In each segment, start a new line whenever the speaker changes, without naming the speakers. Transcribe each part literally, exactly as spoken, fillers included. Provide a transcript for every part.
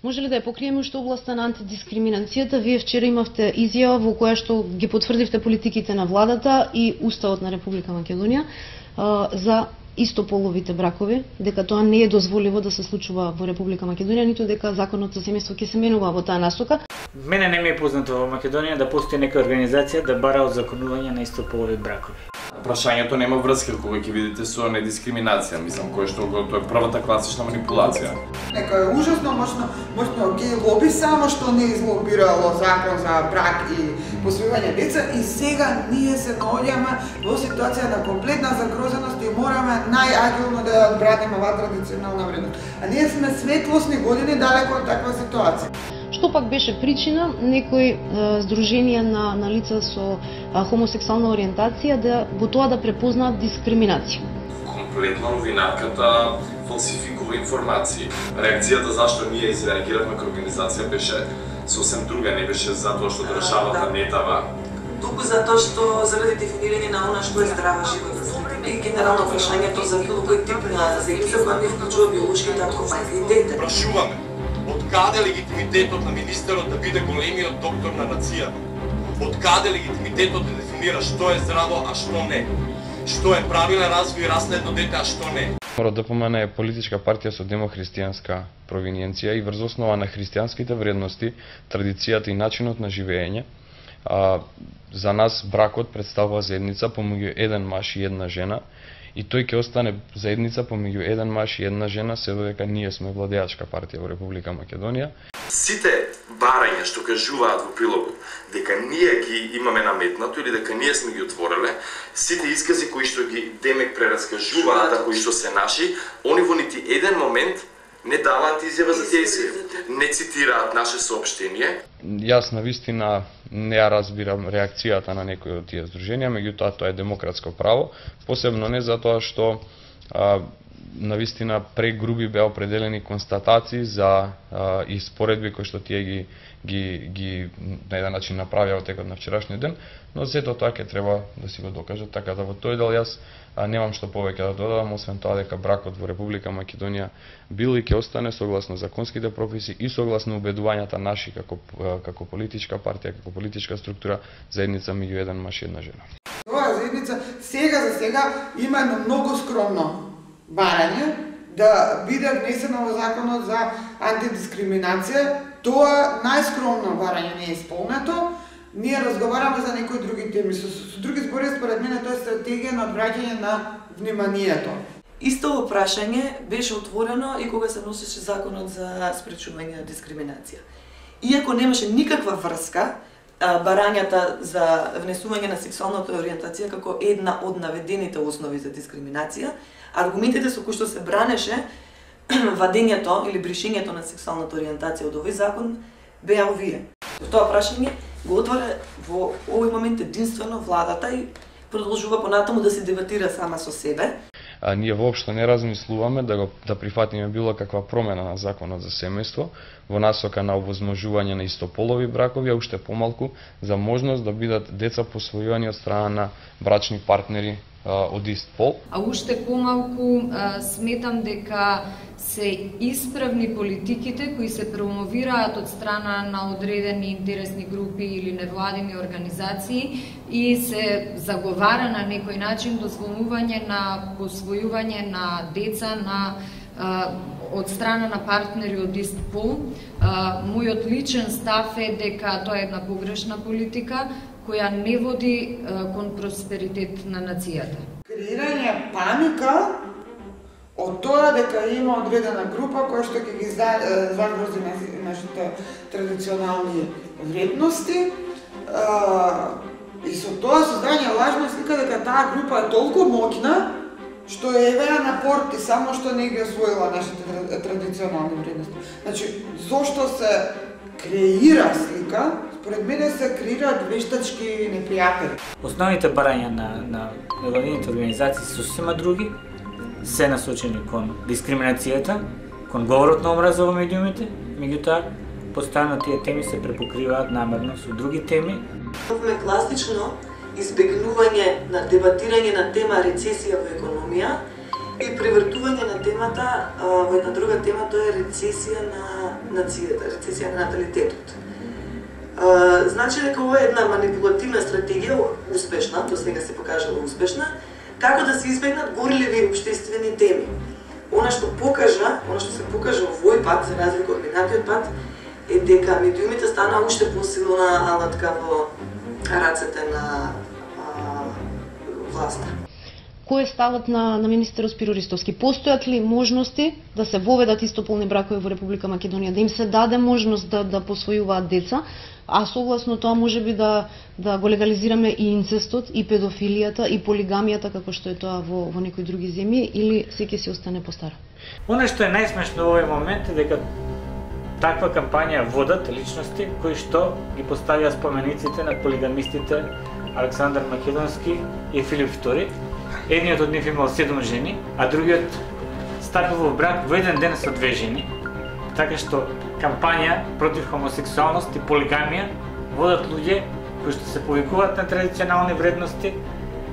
Може ли да ја покриеме уште областа на антидискриминацијата? Вие вчера имавте изјава во која што ги потврдивте политиките на владата и Уставот на Република Македонија за истополовите бракови, дека тоа не е дозволиво да се случува во Република Македонија, ниту дека законот за семејство ќе се менува во таа насока.
Мене не ми е познато во Македонија да постои нека организација да бара одзаконување на истополови бракови.
Прашањето нема врска кога ќе видите со недискриминација, мислам, кој што тоа е првата класична манипулација.
Нека е ужасно мощно, мощно геј лоби само што не излобирало закон за брак и посвојување деца и сега ние се наоѓаме во ситуација на комплетна загрозеност и мораме најагилно да ја одбраниме оваа традиционална вредност. А ние сме светлосни години далеко од таква ситуација.
Што пак беше причина некои здруженија на, на лица со а, хомосексуална ориентација да во тоа да препознаат дискриминација?
Комплетно новинарката фалсификува информации. Реакцијата зашто ние изреагиравме како организација беше сосем друга, не беше затоа што државата да. не дава.
Туку затоа што заради дефинирање на она што е здрава животна средина и генерално прашањето за било кој тип на заедница која не вклучува биолошки татко, мајка и дете.
Прашуваме, од каде легитимитетот на министерот да биде големиот доктор на нацијата? Од каде легитимитетот да дефинира што е здраво, а што не? Што е правилен развој и раследно дете, а што не?
РДПМН е политичка партија со демохристијанска провиненција и врз основа на христијанските вредности, традицијата и начинот на живење, а, за нас бракот представува заедница помеѓу еден маж и една жена, и тој ќе остане заедница помеѓу еден маж и една жена се додека ние сме владеачка партија во Република Македонија.
Сите барања што кажуваат во прилогот дека ние ги имаме наметнато или дека ние сме ги отвореле, сите искази кои што ги демек прераскажуваат, а кои што се наши, они во нити еден момент не даваат изјава за тие изјави, не цитираат наше соопштение.
Јас навистина не ја разбирам реакцијата на некои од тие здруженија, меѓутоа тоа е демократско право, посебно не затоа што а, навистина прегруби беа определени констатации за а, и споредби кои што тие ги ги ги на еден начин направија во текот на вчерашниот ден, но сето тоа ќе треба да си го докажат, така да во тој дел јас а, немам што повеќе да додадам, освен тоа дека бракот во Република Македонија бил и ќе остане согласно законските прописи и согласно убедувањата наши како како политичка партија, како политичка структура, заедница меѓу еден маж и една жена.
Оваа заедница сега за сега има едно многу скромно барање да биде внесено во законот за антидискриминација. Тоа најскромно барање не е исполнето. Ние разговараме за некои други теми. Со, со други збори, според мене, тоа е стратегија на одвраќање на вниманието.
Исто прашање беше отворено и кога се носеше законот за спречување на дискриминација. Иако немаше никаква врска, барањата за внесување на сексуалната ориентација како една од наведените основи за дискриминација, аргументите со кои што се бранеше вадењето или бришењето на сексуалната ориентација од овој закон беа овие. Тоа прашање го отвара во овој момент единствено владата и продолжува понатаму да се дебатира сама со себе.
А, ние воопшто не размислуваме да го да прифатиме било каква промена на законот за семејство во насока на овозможување на истополови бракови, а уште помалку за можност да бидат деца посвојувани од страна на брачни партнери од ист пол.
А уште помалку а, сметам дека се исправни политиките кои се промовираат од страна на одредени интересни групи или невладини организации и се заговара на некој начин дозволување на посвојување на деца на а, од страна на партнери од ист пол. А, мојот личен став е дека тоа е една погрешна политика која не води а, кон просперитет на нацијата.
Креирање паника од тоа дека има одредена група која што ќе ги загрози нашите традиционални вредности и со тоа создање лажна слика дека таа група е толку моќна што евеа на порти само што не ги освоила нашите традиционални вредности. Значи, зошто се креира слика, според мене се креираат вештачки непријатели.
Основните барања на, на невладините организации се сосема други, се насочени кон дискриминацијата, кон говорот на омраза во медиумите, меѓутоа постојано тие теми се препокриваат намерно со други теми.
Имаме класично избегнување на дебатирање на тема рецесија во економија, И превртување на темата во една друга тема, тоа е рецесија на нацијата, рецесија на наталитетот. Значи дека ова е една манипулативна стратегија, успешна, до сега се покажала успешна, како да се избегнат горливи општествени теми. Она што покажа, она што се покажа овој пат, за разлика од минатиот пат, е дека медиумите стана уште посилна алатка во рацете на а, власта.
Кој е ставот на, на министерот Спиро Ристовски? Постојат ли можности да се воведат истополни бракови во Република Македонија, да им се даде можност да, да посвојуваат деца, а согласно тоа можеби да, да го легализираме и инцестот, и педофилијата, и полигамијата, како што е тоа во, во некои други земји, или се ќе си остане по старо?
Оно што е најсмешно во овој момент е дека таква кампања водат личности кои што ги поставија спомениците на полигамистите Александар Македонски и Филип втори. Едниот од нив имал седум жени, а другиот стапил во брак во еден ден со две жени. Така што кампања против хомосексуалност и полигамија водат луѓе кои што се повикуваат на традиционални вредности,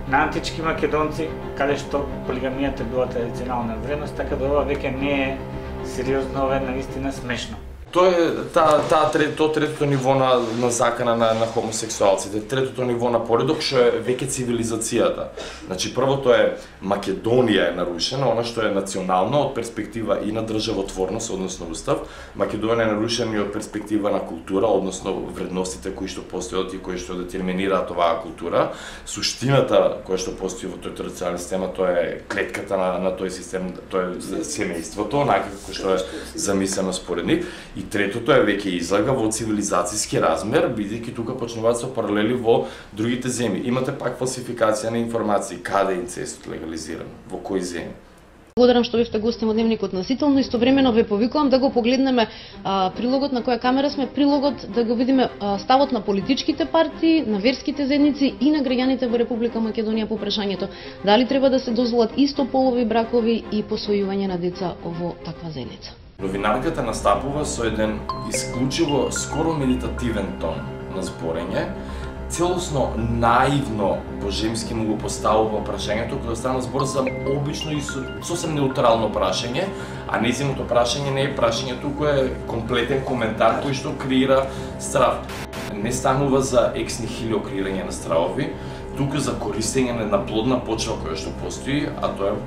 на антички македонци, каде што полигамијата била традиционална вредност, така да ова веќе не е сериозно, ова е наистина смешно.
Тоа е таа та, то третото ниво на, на закана на, на хомосексуалците, третото ниво на поредок што е веќе цивилизацијата. Значи првото е Македонија е нарушена, она што е национално од перспектива и на државотворност, односно устав. Македонија е нарушена и од перспектива на култура, односно вредностите кои што постојат и кои што детерминираат оваа култура. Суштината која што постои во тој традиционален систем, тоа е клетката на, на тој систем, тоа е семејството, онака како што е замислено според нив. И третото е веќе излага во цивилизацијски размер, бидејќи тука почнуваат со паралели во другите земји. Имате пак фалсификација на информации, каде е инцестот легализиран, во кои земји.
Благодарам што бевте гостин во Дневникот насително, истовремено ве повикувам да го погледнеме а, прилогот на која камера сме, прилогот да го видиме а, ставот на политичките партии, на верските заедници и на граѓаните во Република Македонија по прашањето дали треба да се дозволат истополови бракови и посвојување на деца во таква заедница.
Новинарката настапува со еден исклучиво, скоро медитативен тон на зборење, целосно наивно божемски му го поставува прашањето, кога стана збор за обично и сосем неутрално прашање, а нејзиното прашање не е прашање, туку е комплетен коментар кој што креира страв. Не станува за екс нихилио креирање на стравови, туку за користење на една плодна почва која што постои, а тоа е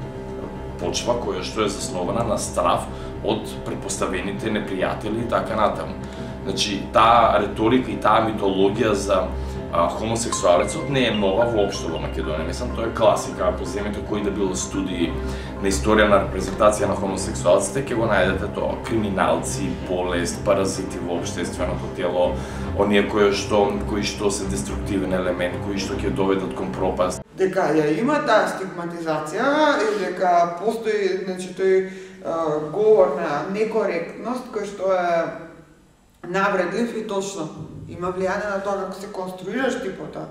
почва која што е заснована на страв од претпоставените непријатели и така натаму. Значи, таа риторика и таа митологија за а, хомосексуалецот не е нова воопшто во Македонија. Мислам, тоа е класика, ако земете кои да било студии на историја на репрезентација на хомосексуалците, ќе го најдете тоа. Криминалци, болест, паразити во општественото тело, оние кои што, кои што се деструктивен елемент, кои што ќе доведат кон пропаст.
Дека ја има таа стигматизација и дека постои, значи, тој говор на некоректност кој што е навредлив и точно има влијание на тоа како се конструираш типота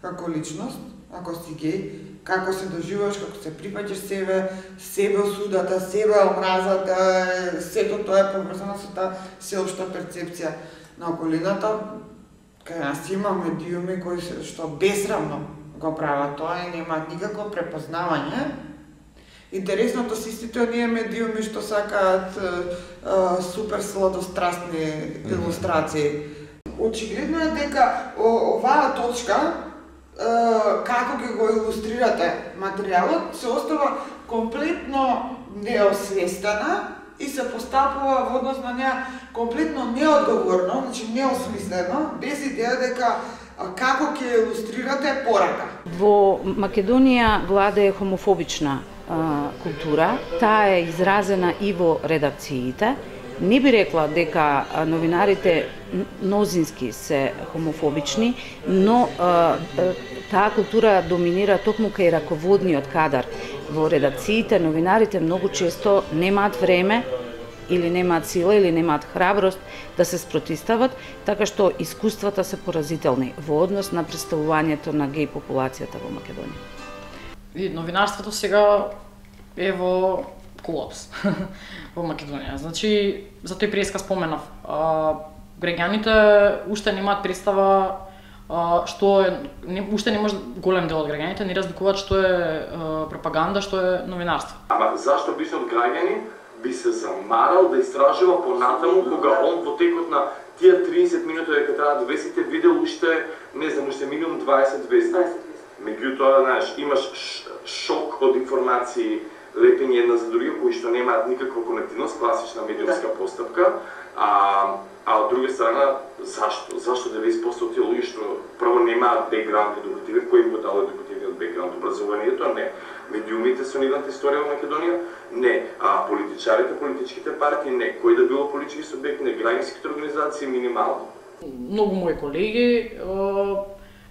како личност, ако си геј, како се доживуваш, како се прифаќаш себе, себе осудата, себе омразата, сето тоа е поврзано со таа сеопшта перцепција на околината. Кај нас има медиуми кои што бесрамно го прават тоа и немаат никакво препознавање. Интересното се истите оние медиуми што сакаат супер сладострастни илустрации. Очигледно е дека оваа точка, како ќе го илустрирате материјалот, се остава комплетно неосвестена и се постапува во однос на неа комплетно неодговорно, значи неосмислено, без идеја дека како ќе илустрирате порака.
Во Македонија владее хомофобична а, култура, таа е изразена и во редакциите. Не би рекла дека новинарите мнозински се хомофобични, но а, таа култура доминира токму кај раководниот кадар. Во редакциите новинарите многу често немаат време или немаат сила или немаат храброст да се спротистават, така што искуствата се поразителни во однос на представувањето на геј популацијата во Македонија.
И новинарството сега е во колапс во Македонија. Значи, за тој преска споменав. А, граѓаните уште немаат представа што е не, уште не може голем дел од граѓаните не разликуваат што е пропаганда, што е новинарство.
Ама зашто обичниот граѓанин би се замарал да истражува понатаму кога он во текот на тие триесет минути дека треба да весите видел уште, не знам, уште минимум дваесет вести. Меѓутоа, знаеш, имаш шок од информации лепени една за друга кои што немаат никаква конективност, класична медиумска постапка, а а од друга страна, зашто? Зашто деветдесет проценти од тие луѓе што прво немаат бекграунд едукативен, кој им го дал едукативниот бекграунд, образованието, не. Медиумите со нивната историја во Македонија, не. А политичарите, политичките партии, не. Кој да било политички субјект, не. Граѓанските организации, минимално.
Многу мои колеги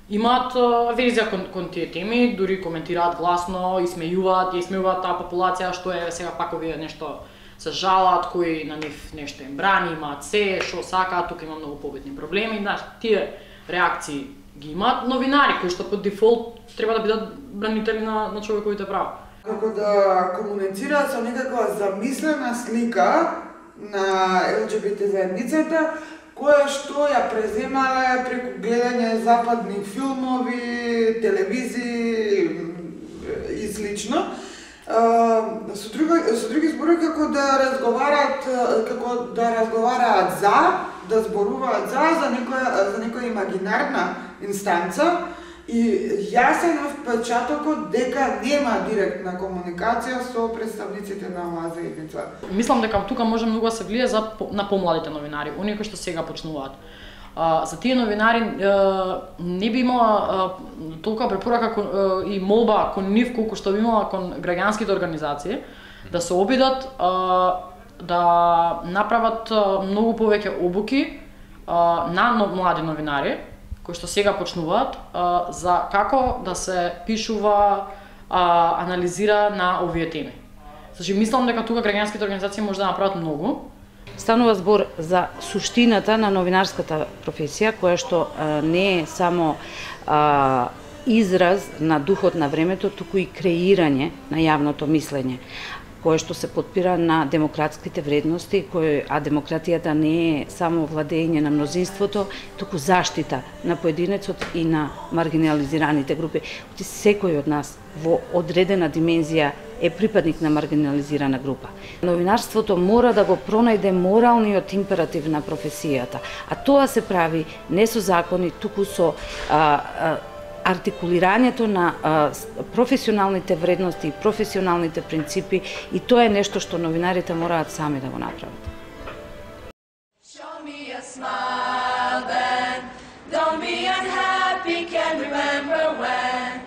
имаат верзија кон, кон тие теми, дури коментираат гласно, исмејуваат, исмејуваат таа популација што е сега пак овие нешто се жалат, кои на нив нешто им брани, имаат се, што сакаат, тука има многу побитни проблеми, знаеш, тие реакции ги имаат новинари кои што по дефолт треба да бидат бранители на, на човековите права.
Како да комуницираат со некаква замислена слика на Ел Џи Би Те заедницата, која што ја преземале преку гледање западни филмови, телевизии и слично. Со други, со други зборови како да разговараат, како да разговараат за, да зборуваат за за некоја за некоја имагинарна инстанца и јасен е впечатокот дека нема директна комуникација со представниците на оваа заедница.
Мислам дека тука може многу да се влие за на помладите новинари, оние кои што сега почнуваат. А, за тие новинари а, не би имала а, толка препорака кон, а, и молба кон нив колку што би имала кон граѓанските организации да се обидат а, да направат а, многу повеќе обуки а, на млади новинари кои што сега почнуваат а, за како да се пишува, а, анализира на овие теми. Значи мислам дека тука граѓанските организации може да направат многу.
Станува збор за суштината на новинарската професија, која што а, не е само а, израз на духот на времето, туку и креирање на јавното мислење, кое што се подпира на демократските вредности, кој, а демократијата не е само владење на мнозинството, туку заштита на поединецот и на маргинализираните групи. Секој од нас во одредена димензија е припадник на маргинализирана група. Новинарството мора да го пронајде моралниот императив на професијата, а тоа се прави не со закони, туку со а, а, артикулирањето на а, професионалните вредности и професионалните принципи, и тоа е нешто што новинарите мораат сами да го направат.
Show me a smile then, don't be unhappy, can't remember when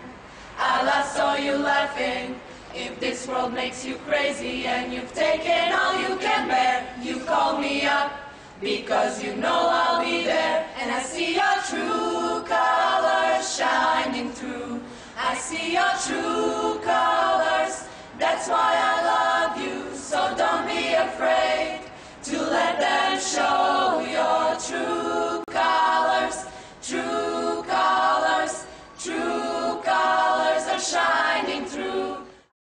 I last saw you laughing. If this world makes you crazy and you've taken all you can bear, you call me up because you know I'll be there, and I see your true colors shining through. I see your true colors, that's why I love you, so don't be afraid.